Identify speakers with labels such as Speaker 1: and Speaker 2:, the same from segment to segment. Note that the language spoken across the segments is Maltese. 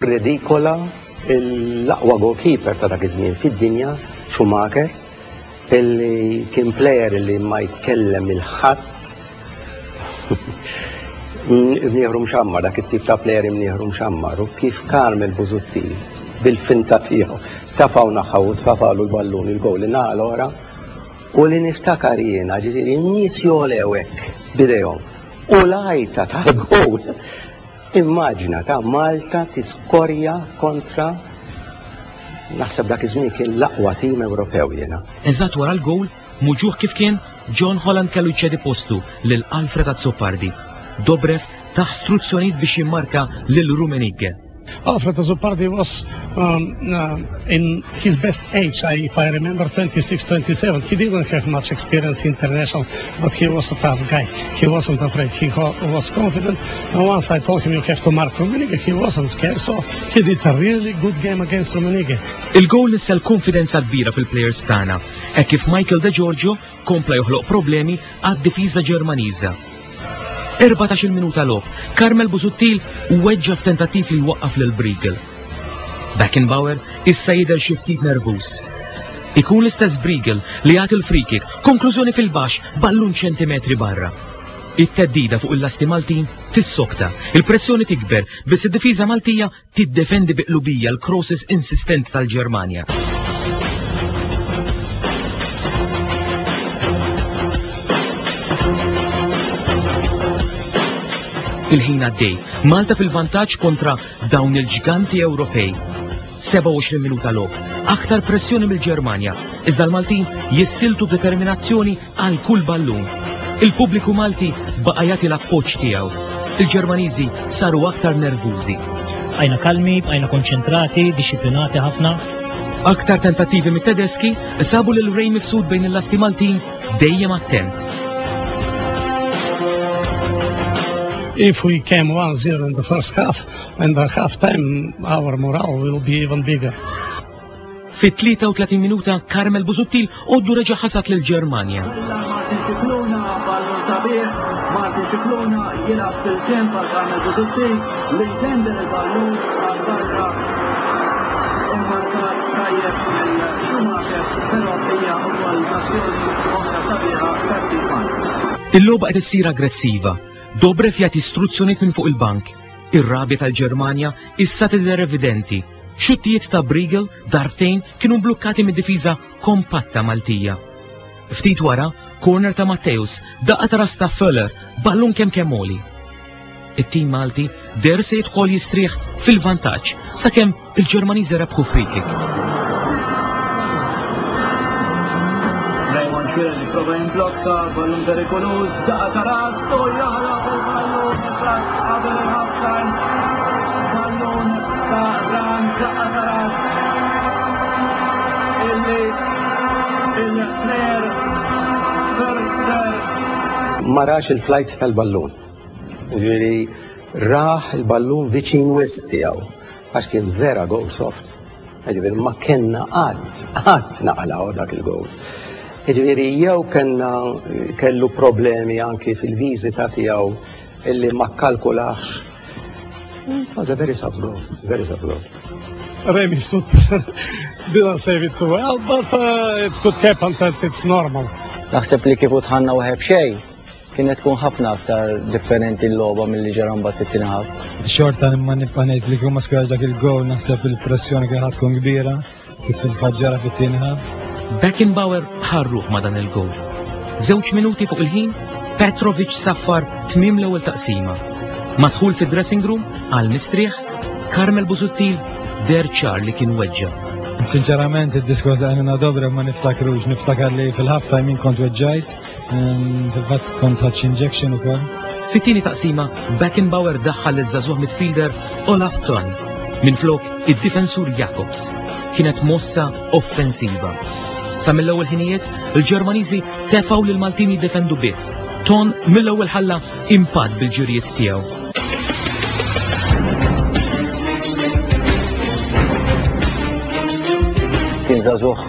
Speaker 1: Redikola l-aqwa goalkeeper ta' dak iż-żmien fid-dinja, Schumacher, illi kien player illi ma jkellem il-ħadd. Imnieħru mxammar, dak it-tip ta' player imnieħru mxammar, u kif Carmel Busuttil bil-finta tiegħu tafgħu naħa u tfafalu l-ballun il-gowl li naħa l-oħra u li niftakar jiena ġifieri n-nies jolew hekk bidejhom u l-għajta tal-gowl Immaġina ta' Malta tiskorja kontra naħseb dak iż-żmien kien l-aqwa tim Ewropew jiena.
Speaker 2: Eżatt wara l-gowl, muġugħ kif kien, John Holland kellu jċedi postu lil Alfred Azzopardi. Dobrev tah struzzjonijiet biex jimmarka lil Rummenigge.
Speaker 3: Alfred Azzopardi was um, uh, in his best age, I, if I remember, 26, 27. He didn't have much experience international, but he was a tough guy. He wasn't afraid. He was confident. And once I told him you have to mark Rummenigge, he wasn't scared. So he did a really good game against Rummenigge.
Speaker 2: Il-goal nissel konfidenza kbira fil-players tagħna, hekk kif Michael De Giorgio kompla joħloq problemi għad-difiża Ġermaniża. 14-il minuta logħob, Carmel Busuttil weġġa' f'tentattiv li jwaqqaf lil Briegel. Beckenbauer issa jidher xi ftit nervuż. Ikun l-istess Briegel li jagħti l-free kick, konklużjoni fil-baxx, ballun ċentimetri barra. It-theddida fuq il-lasti Maltin tissokta, il-pressjoni tikber biss id-difiża Maltija tiddefendi bi qlubija l-crosses insistenti tal-Ġermanja. Il-ħin għaddej, Malta fil-vantaġġ kontra dawn il-ġganti Ewropej. 27 minuta logħob, aktar pressjoni mill-Ġermanja, iżda l-Maltin jissiltu b'determinazzjoni għal kull ballun. Il-pubbliku Malti baqa' jagħti l-appoġġ tiegħu. Il-Ġermaniżi saru aktar nervużi.
Speaker 4: Bqajna kalmi, bqajna konċentrati, dixxiplinati ħafna.
Speaker 2: Aktar tentattivi mit-Tedeski sabu lil Ray Mifsud bejn il-lasti Maltin dejjem attent.
Speaker 3: If we came 1-0 in the first half and the half time our morale will be even bigger.
Speaker 2: Fit-33 minuta Carmel Busuttil għoddu reġa' ħasad lil Ġermanja.
Speaker 5: Martin Scicluna, ballun sabiħ, Martin Scicluna jilgħab fil-ġenb għal Carmel Busuttil li jtendel il-ballun għal barra immarkat tajjeb mill Schumacher, però hija wkoll azzjoni oħra sabiħa tat-tim Malti.
Speaker 2: Il-logħba qed issir aggressiva. Dobrev jagħti istruzzjonijiet minn fuq il-bank. Ir-rabja tal-Ġermanja issa tidher evidenti. Xuttijiet ta' Briegel darbtejn kienu mblukkati mid-difiża kompatta Maltija. Ftit wara, corner ta' Matteus, daqqa ta' ras ta' Föller, ballun kemm kemm għoli. It-tim Malti deher se jidħol jistrieħ fil-vantaġġ sakemm il-Ġermaniżi rebħu free kick.
Speaker 5: Raymond Schwinn jipprova jimblokka ballun perikoluż, daqqa ta' ras u jaħrab il-ballun eżatt qabel il-half time. Ballun ta' Ran daqqa ta' ras illi il-player Ferster
Speaker 1: Ma rax il-flight tal-ballun. Ġifieri rah il-ballun viċin wisq tiegħu għax kien vera goal soft. Ġifieri ma kellna qatt, qatt naqalgħu dak il-goal. Ġifieri jew kellna kellu problemi anki fil-viżita tiegħu illi ma kkalkulax. It was a very soft goal, very soft goal.
Speaker 3: Remy Sut didn't save it too well, but uh, it could happen that it's normal.
Speaker 6: Naħseb li kieku dħalna wieħed b'xejn, kienet tkun ħafna aktar differenti l-logħba milli ġara mbagħad it-tieni half.
Speaker 7: Xorta imma nibqa' ngħid li kieku ma skorjax dak il-goal naħseb il-pressjoni kienet tkun kbira kif fil-fatt ġara fit-tieni half.
Speaker 2: Beckenbauer ħarruh ma' dan il-goal. Żewġ minuti fuq il-ħin, Petrovic saffar tmiem l-ewwel taqsima. Madħul fid-dressing room għal mistrieħ, Carmel Busuttil deher ċar li kien weġġa'.
Speaker 7: Sinċerament id-diskors li għamilna Dobrev ma niftakrux, niftakar li fil-half time jien kont weġġajt, fil-fatt kont ħadt injection ukoll.
Speaker 2: Fit-tieni taqsima, Beckenbauer daħħal liż-żagħżugħ midfielder Olaf Thon minflok id-difensur Jacobs. Kienet mossa offensiva. Sa mill-ewwel ħinijiet, il-Ġermaniżi tefgħu lil Maltin jiddefendu biss. Thon mill-ewwel ħalla impatt bil-ġirijiet tiegħu.
Speaker 6: Kien żagħżugħ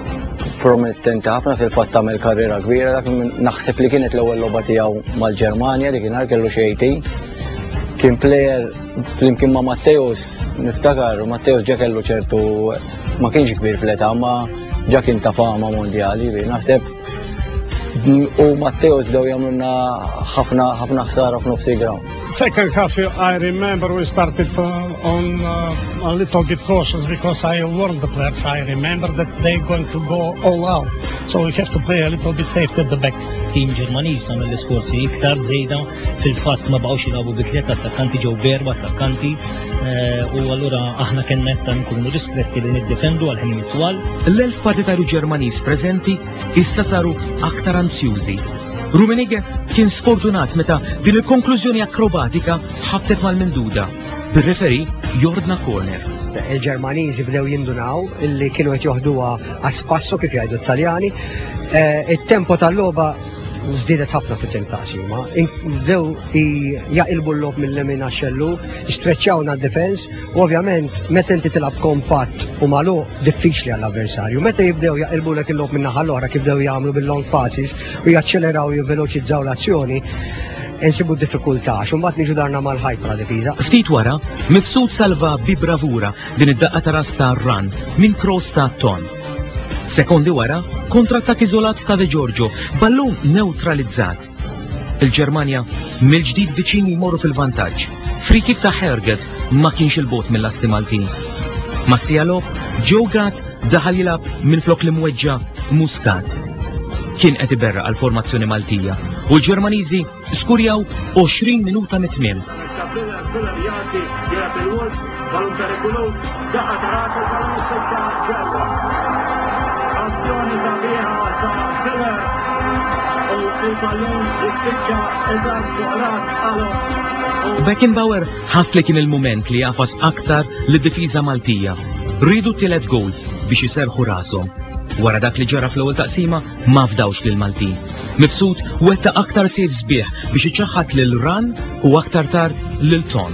Speaker 6: promettenti ħafna fil-fatt għamel karriera kbira dak naħseb li kienet l-ewwel logħba tiegħu mal-Ġermanja li kien kellu xi 18. Kien plejer flimkien ma' Matteus, niftakar, Matteus ġa kellu ċertu ma kienx kbir fl-età, ma ġa kien ta' fama mondjali, naħseb u Matteus bdew jagħmlulna ħafna ħafna ħsara f'nofs il-ground.
Speaker 3: Second half, I remember we started on a little bit cautious because I warned the players. I remember that they're going to go all out. So we have to play a little bit safe at the back.
Speaker 4: Team Ġermaniż għamel l-isforzi iktar żejda fil-fatt ma baqgħux jilagħbu bi tliet attakkanti ġew b'erba' attakkanti eh, u allura aħna kellna qed nkunu ristretti li niddefendu għal ħin twal.
Speaker 2: L-elf partitarju Ġermaniż preżenti issa saru aktar anzjużi. Rummenigge kien sfortunat meta din il-konklużjoni akrobatika ħabtet mal-minduda, bir-referi jordna corner.
Speaker 1: Il-Ġermaniżi bdew jindunaw illi kienu qed joħduha għas-spasso kif jgħidu t-Taljani. Eh, it-tempo tal-logħba żdiedet ħafna fit-tim taqsima. Bdew jaqilbu l-logħob mill-lemin għax-xellu, streċċawna d-defens u ovvjament meta inti tilgħab kompatt u magħluq diffiċli għall-avversarju. Meta jibdew jaqilbulek il-logħob min-naħa l-oħra kif bdew jagħmlu bil-long passes u jaċċeleraw jivveloċizzaw l-azzjoni, insibu diffikultà għax imbagħad niġu darna mal-ħajt bħala difiża.
Speaker 2: Ftit wara, Mifsud salva bi bravura din id-daqqa ta' ras ta' Run minn cross ta' Ton. Sekondi wara, kontrattak iżolat ta' De Giorgio, ballun neutralizzat. Il-Ġermanja mill-ġdid viċin jmorru fil-vantaġġ. Free kick ta' Herget ma kienx il-bot mill-lasti Maltin. Mas-sija logħob, Joe Gatt daħal jilgħab minflok l-imweġġa' Muscat. Kien qed iberraq għall-formazzjoni Maltija u l-Ġermaniżi skurjaw 20 minuta mit-tmiem. Beckenbauer ħass li kien il-mument li jagħfas aktar lid-difiża Maltija. Riedu t-tielet gowl biex iserrħu rashom. Wara dak li ġara fl-ewwel taqsima ma fdawx lill-Maltin. Mifsud wettaq aktar saves sbieħ biex iċaħħad lil Ran u aktar tard lil Ton.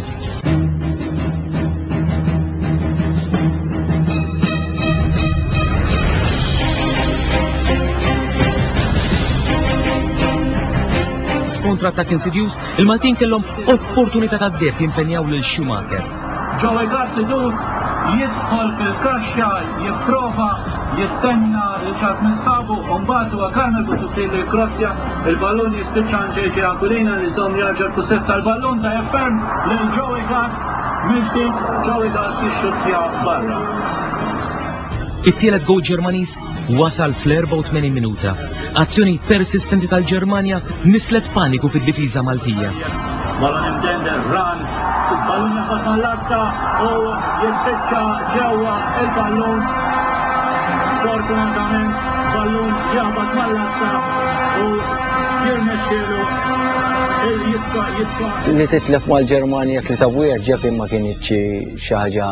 Speaker 2: F'kontrattakk insidjuż, il-Maltin kellhom opportunità tad-deheb jimpenjaw lil Schumacher.
Speaker 5: Joey Gatt idur, jidħol fil-kaxxa, jipprova jistenna lil xi ħadd minn sħabu u mbagħad huwa Carmel Busuttil li jkrossja, il-ballun jispiċċa għand JJ Aquilina li jżomm jarġa' l-pussess tal-ballun tajjeb ferm lil Joey Gatt mill-ġdid Joey Gatt jixxuttja barra.
Speaker 2: It-tielet gowl Ġermaniż wasal fl-84 minuta. Azzjoni persistenti tal-Ġermanja nislet paniku fid-difiża Maltija.
Speaker 5: Ballun imdendel, run, il-ballun jaqbad mal-latta u jispiċċa ġewwa il-ballun. Fortunatament ballun jaqbad mal-latta u jirnexxielu jitfa' jitfa'.
Speaker 6: Li titlef mal-Ġermanja 3-1 ġa ma kinitx xi ħaġa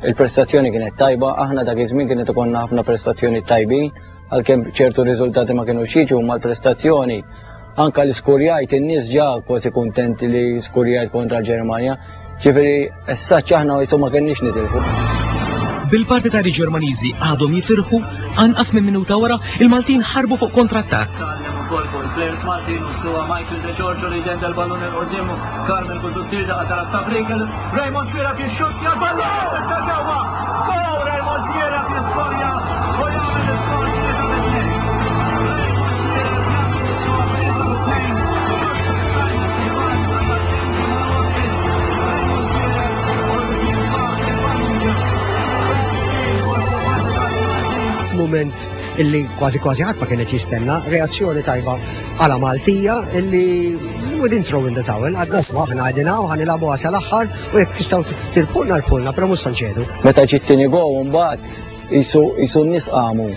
Speaker 6: Il-prestazzjoni kienet tajba, aħna dak iż-żmien kienet ikollna ħafna prestazzjoni tajbin, għalkemm ċertu riżultati ma kinux jiġu ma l-prestazzjoni anka li skurjajt in-nies ġa kważi kuntenti li skurjajt kontra l-Ġermanja. Ġifieri issa aħna jisu ma kenniex nitilfu.
Speaker 2: Bil-partitari Ġermaniżi għadhom jifirħu, anqas minn minuta wara il-Maltin ħarbu fuq kontrattakk.
Speaker 5: Players Maltin u suwa Michael De Giorgio li jdendel ballun il-qoddim Carmel Busuttil daqqa tara ta' Briegel, Raymond Xuereb jixxuttja l-ballun jispiċċa ġewwa. Goal Raymond Xuereb jiskorja u jagħmel l-iskor 3-2.
Speaker 1: Moment illi kważi kważi ħadd ma kienet jistenna, reazzjoni tajba għala Maltija illi we didn't throw in the towel, għadna sma aħna għadina u ħanilabu għasal aħħar u jekk tistgħu tirpulna rpulna, però mhux nċedu.
Speaker 6: Meta ġiet tieni gow mbagħad jisu n-nies qamu.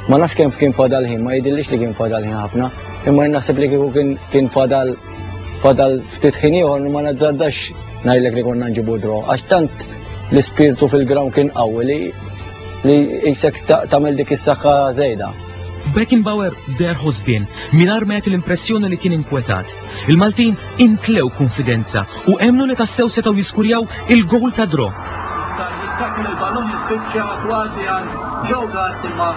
Speaker 6: Ma nafx kemm kien fadal ħin, ma jidhirlix li kien fadal ħin ħafna, imma naħseb li kieku kien fadal fadal ftit ħin ieħor ma nazzardax ngħidlek li konna nġibu draw għax tant l-ispirtu fil-ground kien qawwi li li jisek tagħmel dik is-saħħa żejda.
Speaker 2: Beckenbauer deher ħosbien mingħajr ma jagħti l-impressjoni li kien inkwetat. Il-Maltin imtlew kunfidenza u emmnu li tassew setgħu jiskurjaw il-gowl ta' draw.
Speaker 5: Il-ballun jispiċċa kważi għand Joe Gatt imma.